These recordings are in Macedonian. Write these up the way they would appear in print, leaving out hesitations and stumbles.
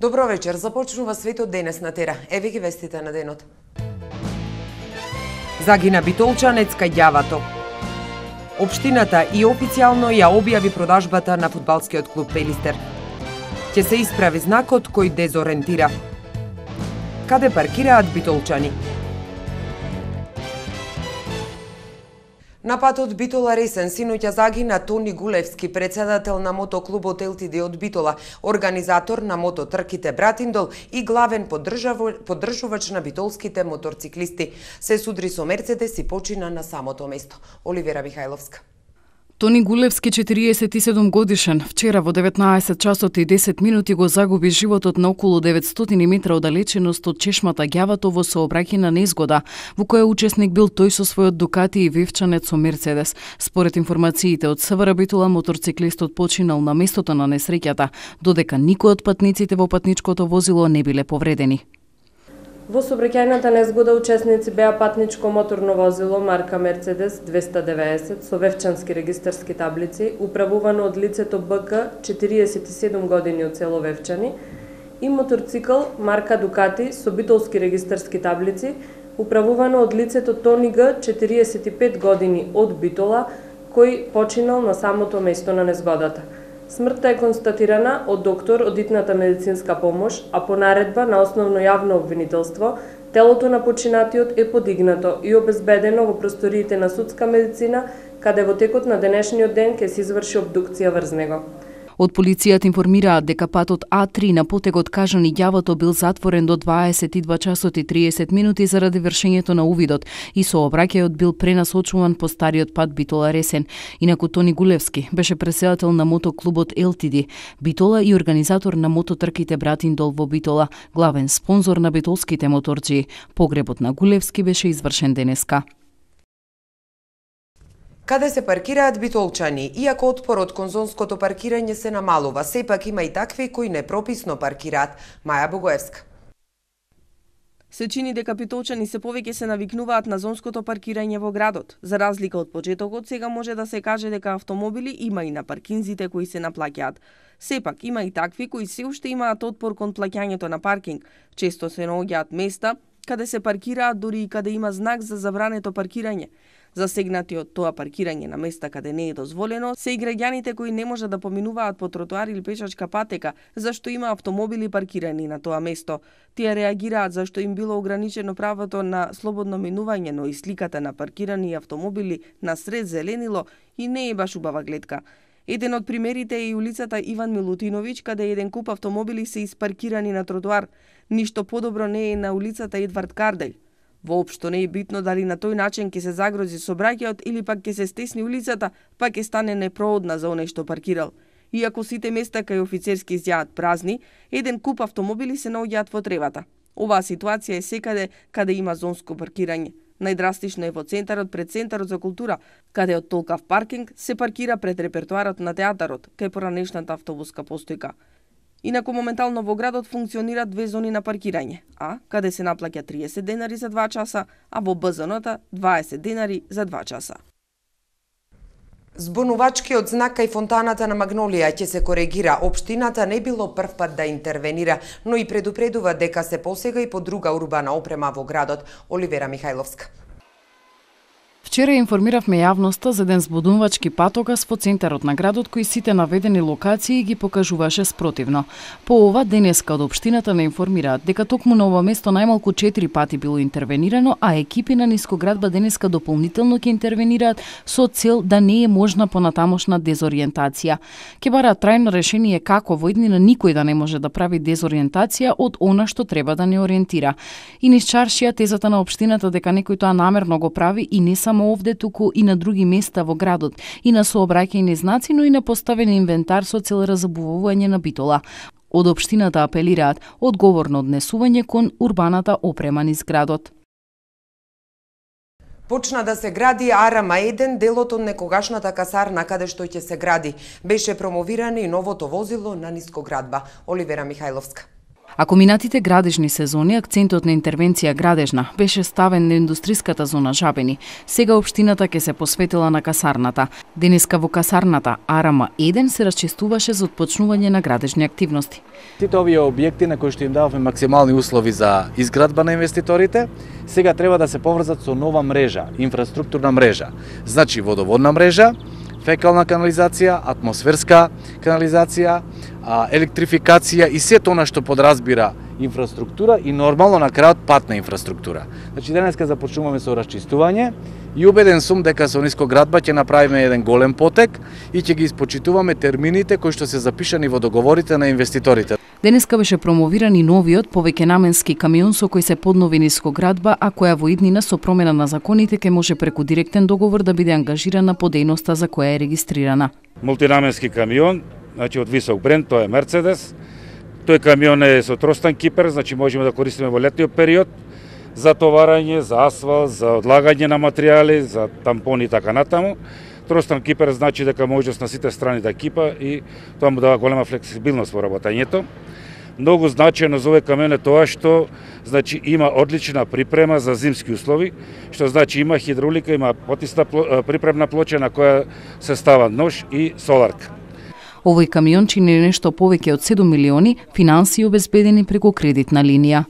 Добро вечер, започнува светот денес на Тера. Еве ги вестите на денот. Загина битолчанец кај ѓавато. Општината и официјално ја објави продажбата на фудбалскиот клуб Пелистер. Ќе се исправи знакот кој дезориентира. Каде паркираат битолчани? На патот Битола-Ресен синоќа загина Тони Гулевски, председател на мотоклубот ЛТД од Битола, организатор на мототрките Братиндол и главен поддржувач на битолските моторциклисти. Се судри со Мерцедес и почина на самото место. Оливера Михајловска. Тони Гулевски, 47 годишен, вчера во 19 часот и 10 минути го загуби животот на околу 900 метра оддалеченост од чешмата ѓавато во сообраќајна незгода, во која учесник бил тој со својот Дукати и вевчанец со Мерцедес. Според информациите од СВР Битола, моторциклистот починал на местото на несреќата, додека никој од патниците во патничкото возило не биле повредени. Во сообраќајната незгода учесници беа патничко моторно возило марка Мерцедес 290 со вевчански регистарски таблици, управувано од лицето БК 47 години од село Вевчани, и моторцикл марка Дукати со битолски регистарски таблици, управувано од лицето Тони Г 45 години од Битола, кој починал на самото место на незгодата. Смртта е констатирана од доктор од итната медицинска помош, а по наредба на основно јавно обвинителство, телото на починатиот е подигнато и обезбедено во просториите на судска медицина, каде во текот на денешниот ден ќе се изврши обдукција врз него. Од полицијата информираат дека патот А3 на потегот Кажани ѓавато бил затворен до 22 часот и 30 минути заради вршењето на увидот и сообраќајот бил пренасочуван по стариот пат Битола-Ресен. Инаку Тони Гулевски беше председател на мотоклубот ЛТД Битола и организатор на мототрките Братиндол во Битола, главен спонзор на битолските моторџии. Погребот на Гулевски беше извршен денеска. Каде се паркираат битолчани? Иако отпорот кон зонското паркирање се намалува, сепак има и такви кои непрописно паркираат. Маја Богоевска. Се чини дека битолчани се повеќе се навикнуваат на зонското паркирање во градот. За разлика од почетокот, сега може да се каже дека автомобили има и на паркинзите кои се наплаќаат. Сепак има и такви кои се уште имаат отпор кон плаќањето на паркинг. Често се наоѓаат места каде се паркираат дури и каде има знак за забрането паркирање. Засегнати од тоа паркирање на места каде не е дозволено се и граѓаните кои не можат да поминуваат по тротоар или пешачка патека, зашто има автомобили паркирани на тоа место. Тие реагираат зашто им било ограничено правото на слободно минување, но и сликата на паркирани автомобили на сред зеленило и не е баш убава гледка. Еден од примерите е и улицата Иван Милутиновиќ, каде еден куп автомобили се испаркирани на тротоар. Ништо подобро не е на улицата Едвард Карделј. Воопшто не е битно дали на тој начин ќе се загрози сообраќајот или пак ќе се стесни улицата, пак ќе стане непроодна за оној што паркирал. Иако сите места кај офицерски изјаат празни, еден куп автомобили се наоѓаат во тревата. Оваа ситуација е секаде каде има зонско паркирање. Најдрастично е во центарот пред Центарот за култура, каде од толкав паркинг се паркира пред репертоарот на театарот, кај поранешната автобуска постојка. Инаку моментално во градот функционираат две зони на паркирање, А, каде се наплаќа 30 денари за 2 часа, а во Б зоната 20 денари за 2 часа. Збунувачкиот знак кај фонтаната на Магнолија ќе се коригира. Општината не било прв пат да интервенира, но и предупредува дека се посега и по друга урбана опрема во градот. Оливера Михајловска. Вчера информиравме јавноста за еден збудувачки патокас во центарот на градот кој сите наведени локации ги покажуваше спротивно. По ова денеска од општината не информираат дека токму на ова место најмалку 4 пати било интервенирано, а екипи на нискоградба денеска дополнително ќе интервенираат со цел да не е можна понатамошна дезориентација. Ќе бараат трајно решение како во иднина никој да не може да прави дезориентација од она што треба да не ориентира. И низ чаршија тезата на општината дека некој тоа намерно го прави и не само овде, туку и на други места во градот, и на сообраќајни знаци, но и на поставен инвентар со цел разабувување на Битола. Од општината апелираат одговорно однесување кон урбаната опрема низ градот. Почна да се гради Арама-1, делот од некогашната касарна каде што ќе се гради. Беше промовирано и новото возило на нискоградба. Оливера Михајловска. Ако минатите градежни сезони акцентот на интервенција градежна беше ставен на индустриската зона Жабени, сега општината ќе се посветила на касарната. Денеска во касарната АРМ-1 се расчистуваше за отпочнување на градежни активности. Сите овие објекти на кои што им дававме максимални услови за изградба на инвеститорите, сега треба да се поврзат со нова мрежа, инфраструктурна мрежа. Значи водоводна мрежа, фекална канализација, атмосферска канализација, електрификација и сето она што подразбира инфраструктура и нормално на крајот патна инфраструктура. Значи денеска започнуваме со расчистување и убеден сум дека со нискоградба ќе направиме еден голем потек и ќе ги испочитуваме термините кои што се запишани во договорите на инвеститорите. Денеска беше промовиран и новиот повеќенаменски камион со кој се поднови нискоградба, а која во иднина со промена на законите ќе може преку директен договор да биде ангажирана по дејноста за која е регистрирана. Мултинаменски камион, значи од висок бренд, тоа е Мерцедес. Тој камион е со тростан кипер, значи можеме да користиме во летниот период за товарање, за асфалт, за одлагање на материјали, за тампони и така натаму. Тростан кипер значи дека можност на сите страни да кипа и тоа му дава голема флексибилност во работењето. Многу значајно за овој камион е тоа што значи има одлична припрема за зимски услови, што значи има хидравлика, има потисна припремна плоча на која се става нож и соларка. Овој камион чини нешто повеќе од 7 милиони финансии обезбедени преку кредитна линија.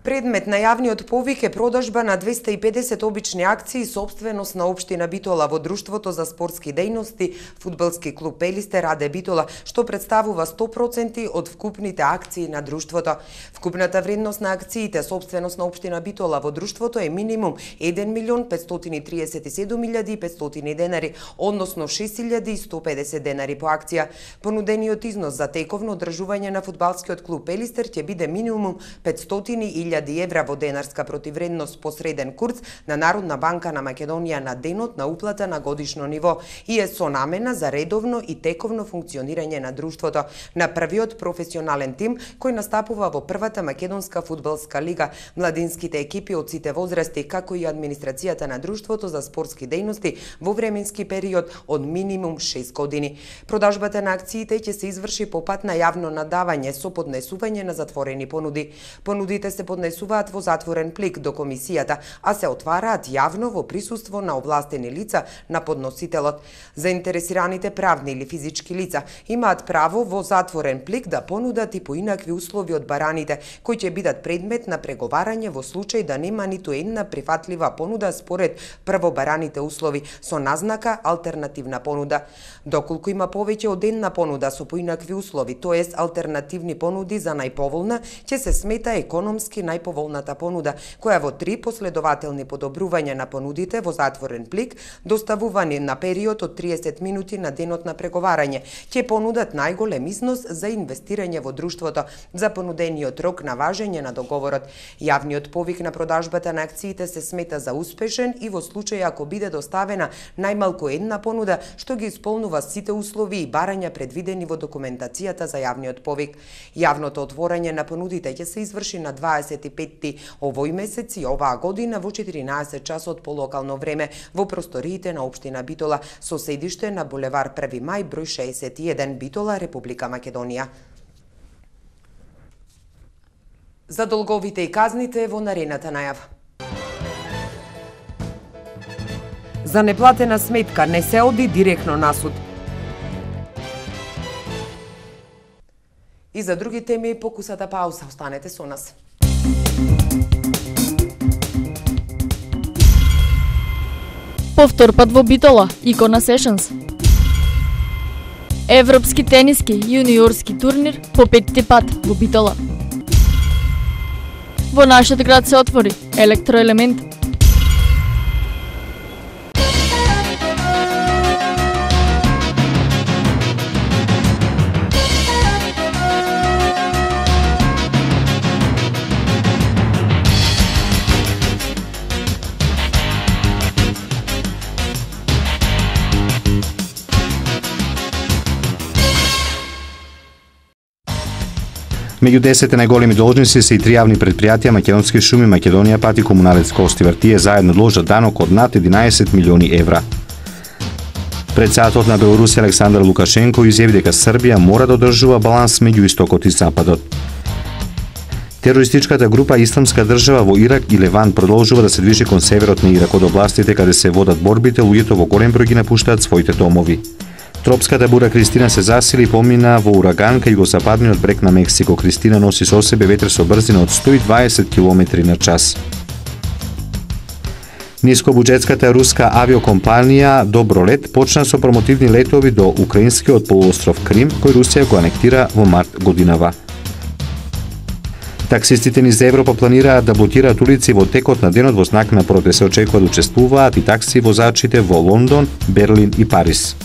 Предмет на јавниот повик е продажба на 250 обични акции сопственост на општина Битола во Друштвото за спортски дејности фудбалски клуб Пелистер АД Битола, што представува 100% од вкупните акции на друштвото. Вкупната вредност на акциите сопственост на општина Битола во друштвото е минимум 1.537.500 денари, односно 6.150 денари по акција. Понудениот износ за тековно одржување на фудбалскиот клуб Пелистер ќе биде минимум 500.000 евра во денарска противредност по среден курс на Народна банка на Македонија на денот на уплата на годишно ниво и е со намена за редовно и тековно функционирање на друштвото, на првиот професионален тим кој настапува во првата македонска фудбалска лига, младинските екипи од сите возрасти, како и администрацијата на друштвото за спортски дејности во временски период од минимум 6 години. Продажбата на акциите ќе се изврши по пат на јавно надавање со поднесување на затворени понуди. Понудите се поднесуваат во затворен плик до комисијата, а се отвараат јавно во присуство на овластени лица на подносителот. Заинтересираните правни или физички лица имаат право во затворен плик да понудат и поинакви услови од бараните, кои ќе бидат предмет на преговарање во случај да нема ниту една прифатлива понуда според прво бараните услови со назнака алтернативна понуда. Доколку има повеќе од една понуда со поинакви услови, тоест алтернативни понуди за најповолна, ќе се смета економски најповолната понуда, која во 3 последователни подобрувања на понудите во затворен плик, доставувани на период од 30 минути на денот на преговарање, ќе понудат најголем износ за инвестирање во друштвото за понудениот рок на важење на договорот. Јавниот повик на продажбата на акциите се смета за успешен и во случај ако биде доставена најмалку една понуда што ги исполнува сите услови и барања предвидени во документацијата за јавниот повик. Јавното отворање на понудите ќе се изврши на 25 овој месец и оваа година во 14 часот по локално време во просториите на општина Битола со седиште на булевар 1 мај број 61 Битола, Република Македонија. За долговите и казните во наредната најава. За неплатена сметка не се оди директно на суд. И за други теми покусата пауза. Останете со нас. Повтор пат во Битола, Икона Сешенс. Европски тениски јуниорски турнир по 5-ти пат во Битола. Во нашиот град се отвори Електроелемент. Меѓу 10 најголеми должници се и 3 јавни претпријатија Македонски шуми, Македонија пат и Комуналец Костивар. Тие заедно должат данок од над 11 милиони евра. Председателот на Белорусија Александар Лукашенко изјави дека Србија мора да одржува баланс меѓу истокот и западот. Терористичката група Исламска држава во Ирак и Леван продолжува да се движи кон северот на Ирак од областите каде се водат борбите, луѓето во голем број ги напуштаат своите домови. Тропската бура Кристина се засили и помина во ураган кај југозападниот брег на Мексико. Кристина носи со себе ветер со брзина од 120 км на час. Нискобуџетската руска авиокомпанија Добролет почна со промотивни летови до украинскиот полуостров Крим, кој Русија го анектира во март годинава. Таксистите низ Европа планираат да блокираат улици во текот на денот во знак на протест. Се очекува да учествуваат и такси возачите во Лондон, Берлин и Париз.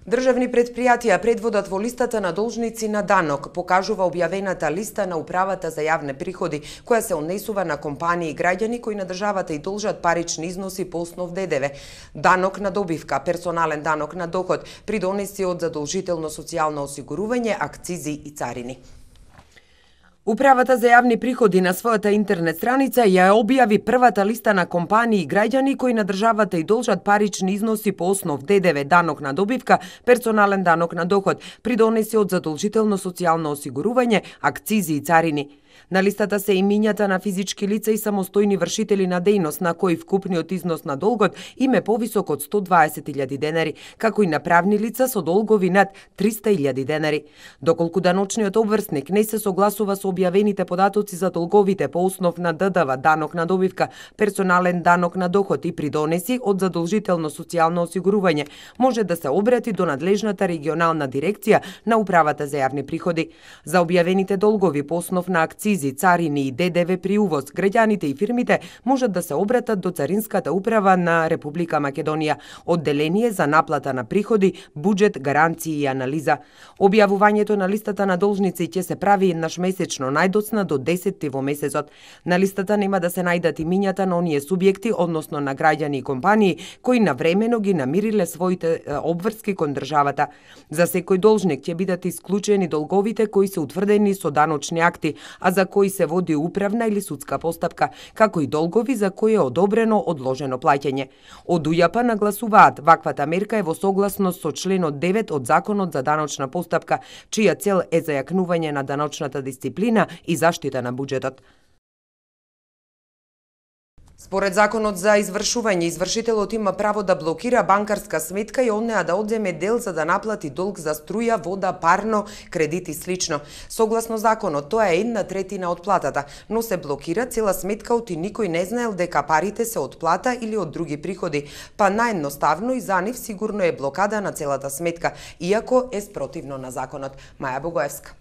Државни предпријатија предводат во листата на должници на данок, покажува објавената листа на Управата за јавни приходи, која се однесува на компании и граѓани кои на државата и должат парични износи по основ ДДВ, данок на добивка, персонален данок на доход, придонеси од задолжително социјално осигурување, акцизи и царини. Управата за јавни приходи на својата интернет страница ја објави првата листа на компании и граѓани кои на државата и должат парични износи по основ ДДВ, данок на добивка, персонален данок на доход, придонеси од задолжително социјално осигурување, акцизи и царини. На листата се имињата на физички лица и самостојни вршители на дејност на кои вкупниот износ на долгот им е повисок од 120.000 денари, како и на правни лица со долгови над 300.000 денари. Доколку даночниот обврсник не се согласува со објавените податоци за долговите по основ на ДДВ, данок на добивка, персонален данок на доход и придонеси од задолжително социјално осигурување, може да се обрати до надлежната регионална дирекција на Управата за јавни приходи. За објавените долгови по основ на акцизи, царини и ДДВ при увоз, граѓаните и фирмите можат да се обратат до Царинската управа на Република Македонија, одделение за наплата на приходи, буџет, гаранции и анализа. Објавувањето на листата на должници ќе се прави еднаш месечно, најдоцна до 10 во месецот. На листата нема да се најдат имињата на оние субјекти, односно на граѓани и компании, кои навремено ги намириле своите обврски кон државата. За секој должник ќе бидат исклучени долговите кои се утврдени со даночни акти, а за кои се води управна или судска постапка, како и долгови за кои е одобрено одложено плаќање. Од УЈАП нагласуваат, ваквата мерка е во согласност со членот 9 од Законот за даночна постапка, чија цел е зајакнување на даночната дисциплина и заштита на буџетот. Според Законот за извршување, извршителот има право да блокира банкарска сметка и од неа да одземе дел за да наплати долг за струја, вода, парно, кредит и слично. Согласно законот, тоа е 1/3 од платата, но се блокира цела сметка оти никој не знаел дека парите се од плата или од други приходи, па наједноставно и за нив сигурно е блокада на целата сметка, иако е спротивно на законот. Маја Богоевска.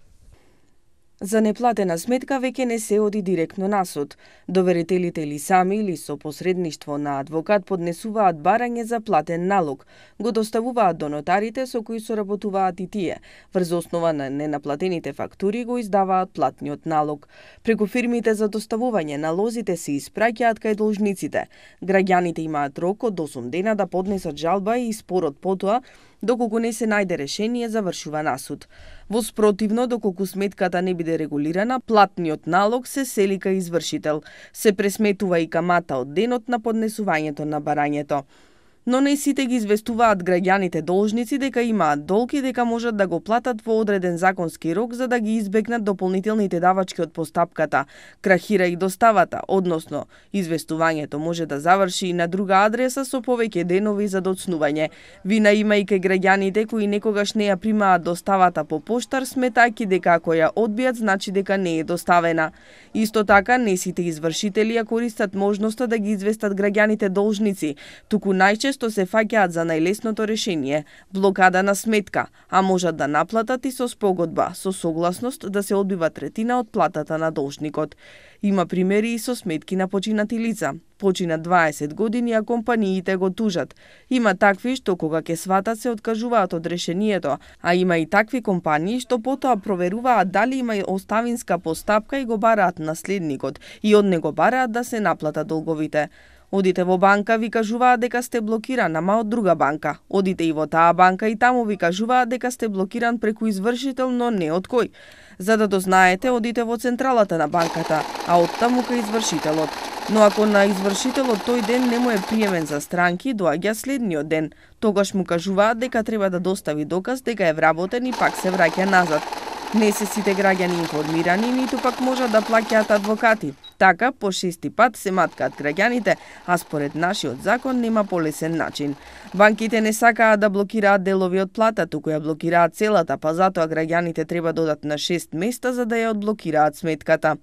За неплатена сметка веќе не се оди директно на суд. Доверителите или сами или со посредништво на адвокат поднесуваат барање за платен налог, го доставуваат до нотарите со кои соработуваат и тие. Врз основа на ненаплатените фактури го издаваат платниот налог. Преку фирмите за доставување налозите се испраќаат кај должниците. Граѓаните имаат рок од 8 дена да поднесат жалба и спорот потоа, доколку не се најде решение, завршува на суд. Во спротивно, доколку сметката не биде регулирана, платниот налог се сели кај извршител. Се пресметува и камата од денот на поднесувањето на барањето. Но не сите ги известуваат граѓаните должници дека имаат долг и дека можат да го платат во одреден законски рок за да ги избегнат дополнителните давачки од постапката. Крахира и доставата, односно известувањето може да заврши и на друга адреса со повеќе денови за доцнување. Вина има и кај граѓаните кои некогаш не ја примаат доставата по поштар, сметајќи дека ако ја одбијат значи дека не е доставена. Исто така, не сите извршители ја користат можноста да ги известат граѓаните должници, туку најчесто се фаќаат за најлесното решение – блокада на сметка, а можат да наплатат и со спогодба, со согласност да се одбива третина од платата на должникот. Има примери и со сметки на починати лица. Почина 20 години, а компаниите го тужат. Има такви што кога ќе сватат се откажуваат од решението, а има и такви компании што потоа проверуваат дали има оставинска постапка и го бараат наследникот и од него бараат да се наплатат долговите. Одите во банка, ви кажуваат дека сте блокиран, ама од друга банка. Одите и во таа банка и таму ви кажуваат дека сте блокиран преку извршител, но не од кој. За да дознаете, одите во централата на банката, а од таму кај извршителот. Но ако на извршителот тој ден не му е приемен за странки, доаѓа следниот ден. Тогаш му кажуваат дека треба да достави доказ дека е вработен и пак се враќа назад. Не се сите граѓани информирани, ниту пак можат да плаќаат адвокати. Така, по 6 пат се маткаат граѓаните, а според нашиот закон нема полесен начин. Банките не сакаат да блокираат делови од плата, туку ја блокираат целата, па затоа граѓаните треба да одат на 6 места за да ја одблокираат сметката.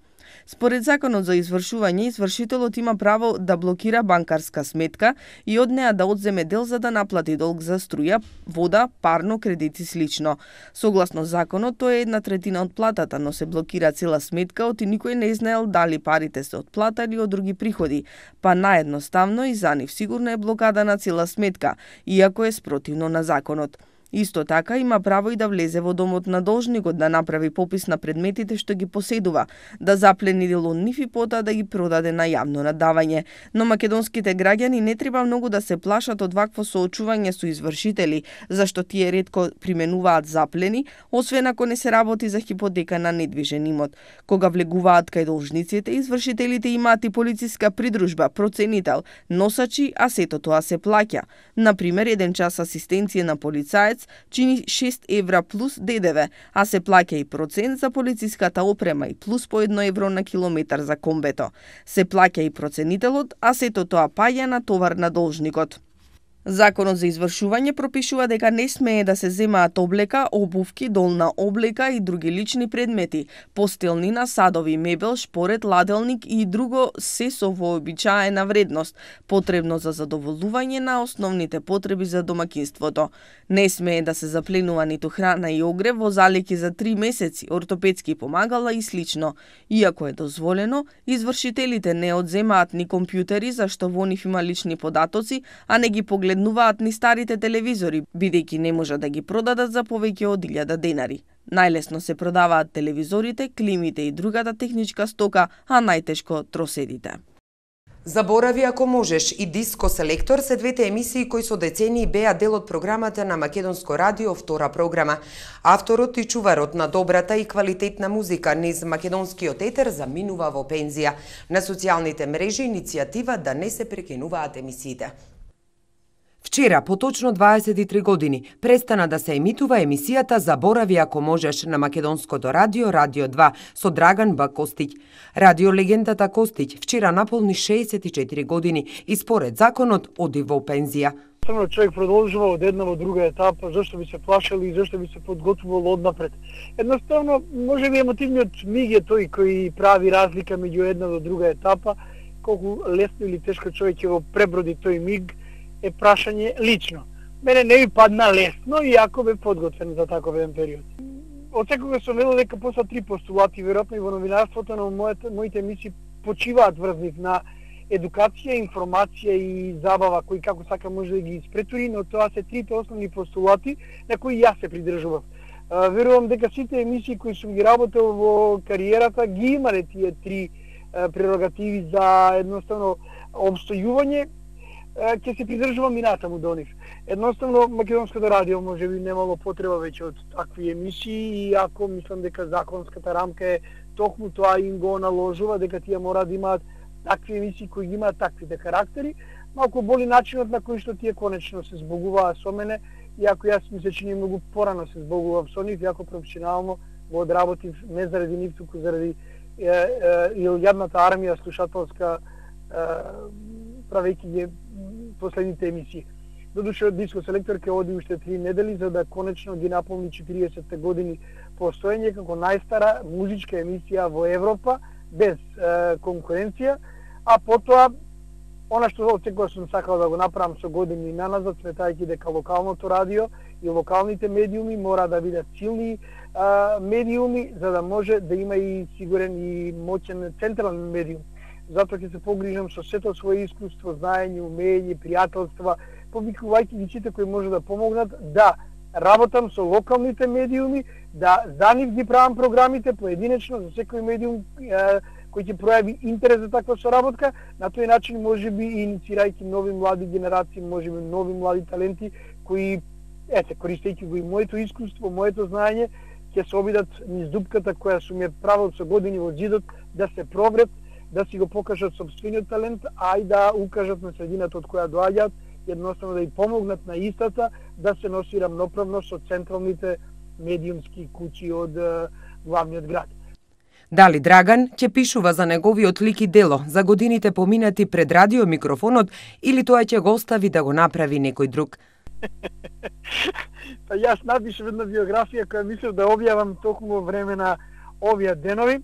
Според законот за извршување, извршителот има право да блокира банкарска сметка и од неа да одземе дел за да наплати долг за струја, вода, парно, кредит и слично. Согласно законот, тоа е 1/3 од платата, но се блокира цела сметка, оти никој не знаел дали парите се од плата или од други приходи, па наедноставно и за нив сигурно е блокада на цела сметка, иако е спротивно на законот. Исто така има право и да влезе во домот на должникот, да направи попис на предметите што ги поседува, да заплени дел од нив и потоа да ги продаде на јавно надавање. Но македонските граѓани не треба многу да се плашат од вакво соочување со извршители, зашто тие ретко применуваат заплени, освен ако не се работи за хипотека на недвижен имот. Кога влегуваат кај должниците, извршителите имаат и полициска придружба, проценител, носачи, а сето тоа се плаќа. Например, 1 час асистенција на полицаец чини 6 евра плюс ДДВ, а се плаќа и процент за полициската опрема и плюс по 1 евро на километар за комбето. Се плаќа и проценителот, а сето тоа паѓа на товар на должникот. Законот за извршување пропишува дека не смее да се земаат облека, обувки, долна облека и други лични предмети, постелнина, садови, мебел, шпоред, ладелник и друго се со вообичаена вредност, потребно за задоволување на основните потреби за домакинството. Не смее да се запленува ниту храна и огрев во залики за 3 месеци, ортопедски помагала и слично. Иако е дозволено, извршителите не одземаат ни компјутери, зашто во нив има лични податоци, а не ги погледнуваат ни старите телевизори, бидејќи не можат да ги продадат за повеќе од 1000 денари. Најлесно се продаваат телевизорите, климите и другата техничка стока, а најтешко троседите. Заборави ако можеш и Диско Селектор се двете емисии кои со децении беа дел од програмата на Македонско радио, втора програма. Авторот и чуварот на добрата и квалитетна музика низ македонскиот етер заминува во пензија. На социјалните мрежи иницијатива да не се прекинуваат емисиите. Вчера, по точно 23 години, престана да се емитува емисијата Заборави ако можеш на Македонското радио, Радио 2, со Драган Б. Костиќ. Радиолегендата Костиќ вчера наполни 64 години и според законот оди во пензија. Човек продолжува од една во друга етапа, зашто би се плашал и зашто би се подготвувал однапред. Едноставно, може би емотивниот миг е тој кој прави разлика меѓу една до друга етапа, колку лесно или тешко човек ќе го преброди тој миг, е прашање лично. Мене не ми падна лесно, иако бе подготвен за таков еден период. Од секога сум велел дека после 3 постулати, веројатно и во новинарството, на моите емисии почиваат врз нив на едукација, информација и забава, кој како сака може да ги испретури, но тоа се трите основни постулати на кои јас се придржував. Верувам дека сите емисии кои сум ги работел во кариерата ги имале тие 3 прерогативи за едноставно обстојување, ќе се придржувам и натаму до нив. Едноставно, Македонското радио може би немало потреба веќе од такви емисии, и ако мислам дека законската рамка е токму тоа им го наложува, дека тие мора да имаат такви емисии кои ги имаат таквите карактери, малку боли начинот на кој што тие конечно се збогуваа со мене, иако јас ми се чини многу порано се збогував со нив, иако професионално го одработив не заради нив, туку заради јадната армија слушателска, правејќи ги последните емисии. Додуше од Диско Селектор ќе оди уште 3 недели за да конечно ги наполни 40 години постоење како најстара музичка емисија во Европа без конкуренција, а потоа она што отсекогаш сум сакал да го направам со години наназад, сметајќи дека локалното радио и локалните медиуми мора да бидат силни медиуми за да може да има и сигурен и моќен централен медиум. Затоа ќе се погрижам со сето свое искуство, знаење, умење, пријателства, повикувајќи ги сите кои може да помогнат да работам со локалните медиуми, да за нив ги правам програмите поединечно за секој медиум кој ќе пројави интерес за таква соработка, на тој начин можеби и инициирајќи нови млади генерации, можеби нови млади таленти кои користејќи го и моето искуство, моето знаење, ќе се обидат низ дупката која сум ја правил со години во ѕидот, да се пробрет, да си го покажат сопствениот талент, а и да укажат на средината од која доаѓаат, едноставно да и помогнат на истата да се носи рамноправно со централните медиумски куќи од главниот град. Дали Драган ќе пишува за неговиот лик и дело, за годините поминати пред радиомикрофонот, или тоа ќе го остави да го направи некој друг? Па јас напишав една биографија која мислев да објавам токму во време на овие денови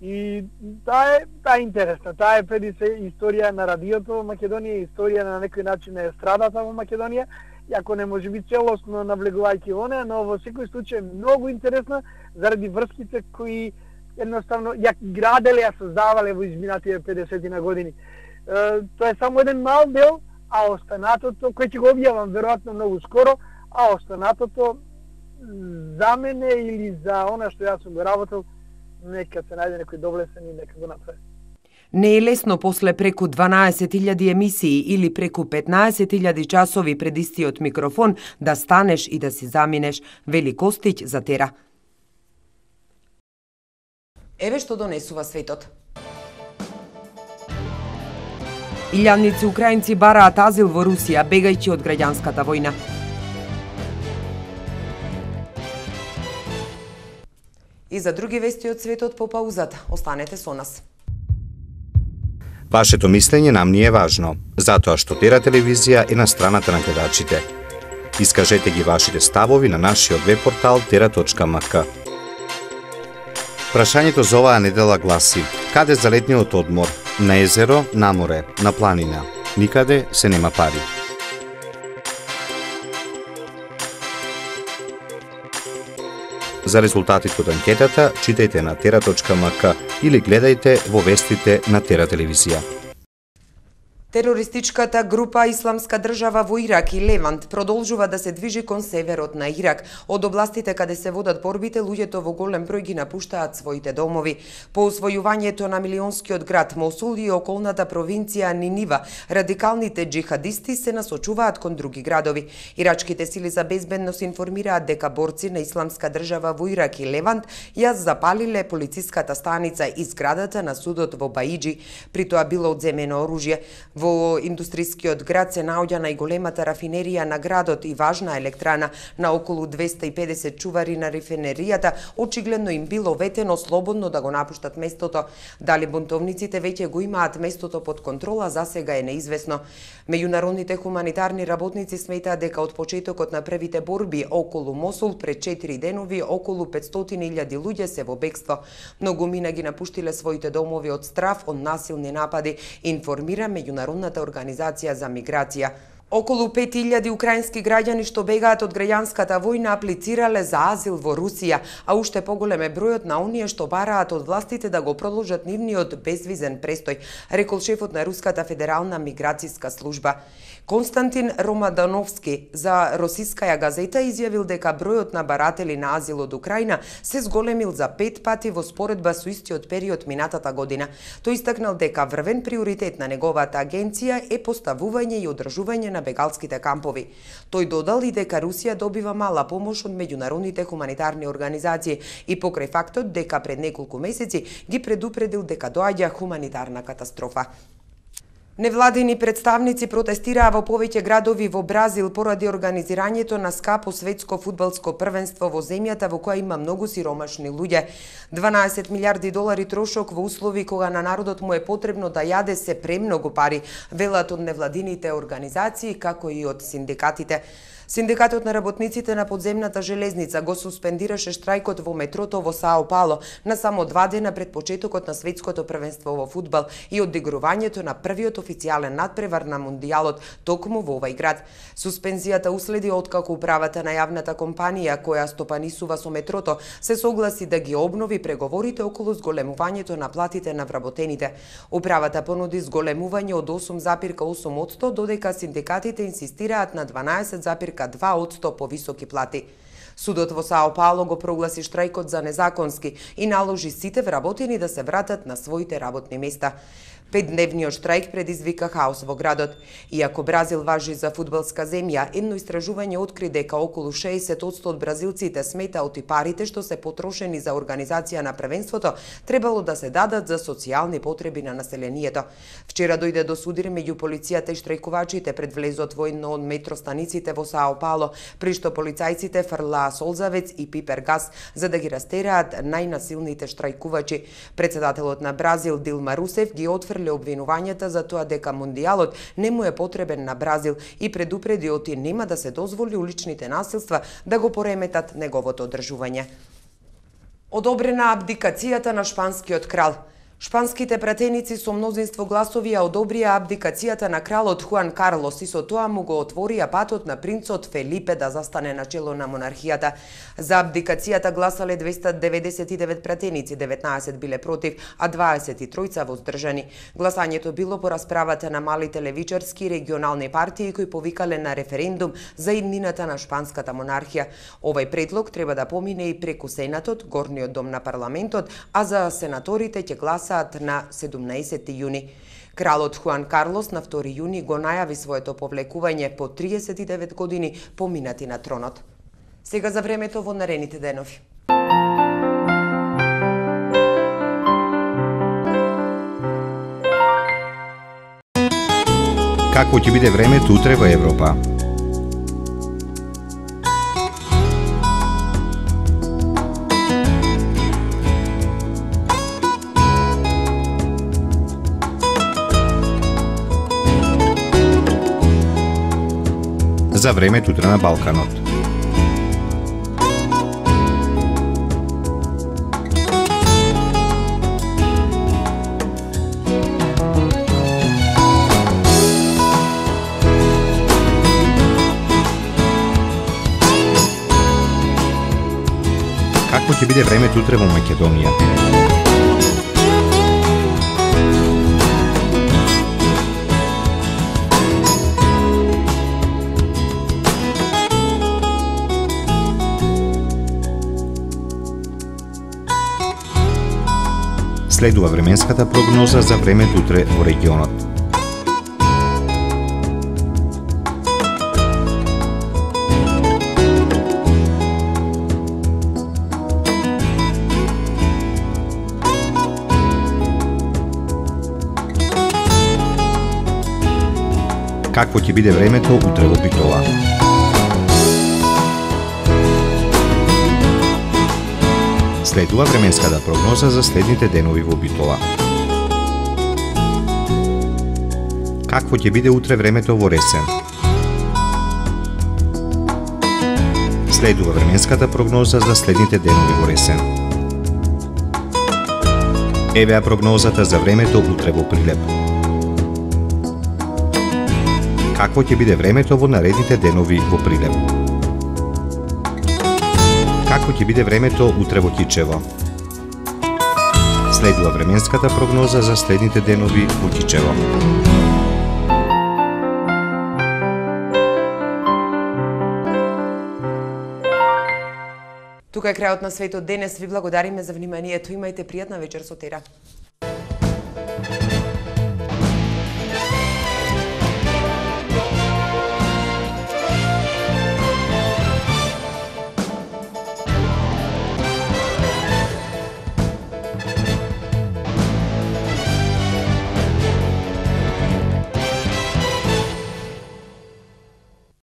и таа е интересна. Таа е преди се историја на радиото во Македонија, историја на некој начин на естрадата во Македонија, иако не може би целосно навлегувајќи во неа, но во секој случај многу интересна заради врските кои едноставно ја граделе, ја создавале во изминатите 50 на години. Тоа е само еден мал дел, а останатото, кој ќе го објавам веројатно многу скоро, а останатото за мене или за она што јас сум го работел, нека се најде некој доблесен и нека го направи. Не е лесно после преку 12.000 емисии или преку 15.000 часови пред истиот микрофон да станеш и да си заминеш, вели Костиќ за Тера. Еве што донесува светот. Илјадници украинци бараат азил во Русија, бегајќи од граѓанската војна. И за други вести од светот по паузата. Останете со нас. Вашето мислење нам ни е важно, затоа што Тера телевизија е на страната на гледачите. Искажете ги вашите ставови на нашиот веб портал tera.mk. Прашањето за оваа недела гласи: каде за летниот одмор? На езеро, на море, на планина. Никаде се нема пари. За резултатите од анкетата читајте на tera.mk или гледајте во вестите на Тера телевизија. Терористичката група Исламска држава во Ирак и Левант продолжува да се движи кон северот на Ирак. Од областите каде се водат борбите, луѓето во голем број ги напуштаат своите домови. По освојувањето на милионскиот град Мосул и околната провинција Нинива, радикалните џихадисти се насочуваат кон други градови. Ирачките сили за безбедност информираат дека борци на Исламска држава во Ирак и Левант ја запалиле полициската станица и зградата на судот во Баиџи, при тоа било одземено оружје. Во индустрискиот град се наоѓа најголемата рафинерија на градот и важна електрана. На околу 250 чувари на рафинеријата очигледно им било ветено слободно да го напуштат местото. Дали бунтовниците веќе го имаат местото под контрола, засега е неизвестно. Меѓународните хуманитарни работници сметаат дека од почетокот на првите борби околу Мосул пред 4 денови околу 500.000 луѓе се во бегство. Многумина ги напуштиле своите домови од страв од насилни напади, информира Меѓународната организација за миграција. Околу 5.000 украински граѓани што бегаат од граѓанската војна аплицирале за азил во Русија, а уште поголем е бројот на оние што бараат од властите да го продолжат нивниот безвизен престој, рекол шефот на Руската федерална миграцијска служба. Константин Ромадановски за Росискаја газета изјавил дека бројот на баратели на азил од Украина се зголемил за 5 пати во споредба со истиот период минатата година. Тој истакнал дека врвен приоритет на неговата агенција е поставување и одржување на бегалските кампови. Тој додал и дека Русија добива мала помош од меѓународните хуманитарни организации и покрај фактот дека пред неколку месеци ги предупредил дека доаѓа хуманитарна катастрофа. Невладини представници протестираа во повеќе градови во Бразил поради организирањето на скапо светско фудбалско првенство во земјата во која има многу сиромашни луѓе. 12 милиарди долари трошок во услови кога на народот му е потребно да јаде се премногу пари, велат од невладините организации како и од синдикатите. Синдикатот на работниците на подземната железница го суспендираше штрајкот во метрото во Сао Пауло на само 2 дена пред почетокот на светското првенство во фудбал и одигрувањето на првиот официјален надпревар на Мундијалот токму во овај град. Суспензијата уследи откако управата на јавната компанија која стопанисува со метрото се согласи да ги обнови преговорите околу зголемувањето на платите на вработените. Управата понуди зголемување од 8,8%, додека синдикатите инсистираат на 12,2% повисоки плати. Судот во Сао Пауло го прогласи штрајкот за незаконски и наложи сите вработени да се вратат на своите работни места. 5-дневниот штрајк предизвика хаос во градот. Иако Бразил важи за фудбалска земја, едно истражување откри дека околу 60% од бразилците сметаат и парите што се потрошени за организација на првенството требало да се дадат за социјални потреби на населението. Вчера дојде до судир меѓу полицијата и штрајкувачите пред влезот во едно од метростаниците во Сао Пауло, при што полицајците фрлаа солзавец и пипер газ за да ги растераат најнасилните штрајкувачи. Председателот на Бразил Дилма Русеф ги отфрли обвинувањата за тоа дека мондијалот не му е потребен на Бразил и предупреди оти нема да се дозволи уличните насилства да го пореметат неговото одржување. Одобрена абдикацијата на шпанскиот крал. Шпанските пратеници со мнозинство гласови ја одобрија абдикацијата на кралот Хуан Карлос и со тоа му го отворија патот на принцот Фелипе да застане на чело на монархијата. За абдикацијата гласале 299 пратеници, 19 биле против, а 23 воздржани. Гласањето било по расправата на малите левичарски и регионални партии кои повикале на референдум за иднината на шпанската монархија. Овој предлог треба да помине и преку Сенатот, горниот дом на парламентот, а за сенаторите ќе гласаат на 17 јуни. Кралот Хуан Карлос на 2 јуни го најави своето повлекување по 39 години поминати на тронот. Сега за времето во наредните денови. Какво ќе биде времето утре во Европа? За времето утре на Балканот. Какво ќе биде времето утре во Македонија? Следува временската прогноза за времето утре во регионот. Какво ќе биде времето утре во Битола? Следува временската прогноза за следните денови во Битола. Какво ќе биде утре времето во Ресен? Следува временската прогноза за следните денови во Ресен. Евеа прогнозата за времето утре во Прилеп. Какво ќе биде времето во наредните денови во Прилеп? Какво ќе биде времето утре во Кичево? Следува временската прогноза за следните денови во Кичево. Тука е крајот на светот денес. Ви благодариме за вниманието. Имајте пријатна вечер со Тера.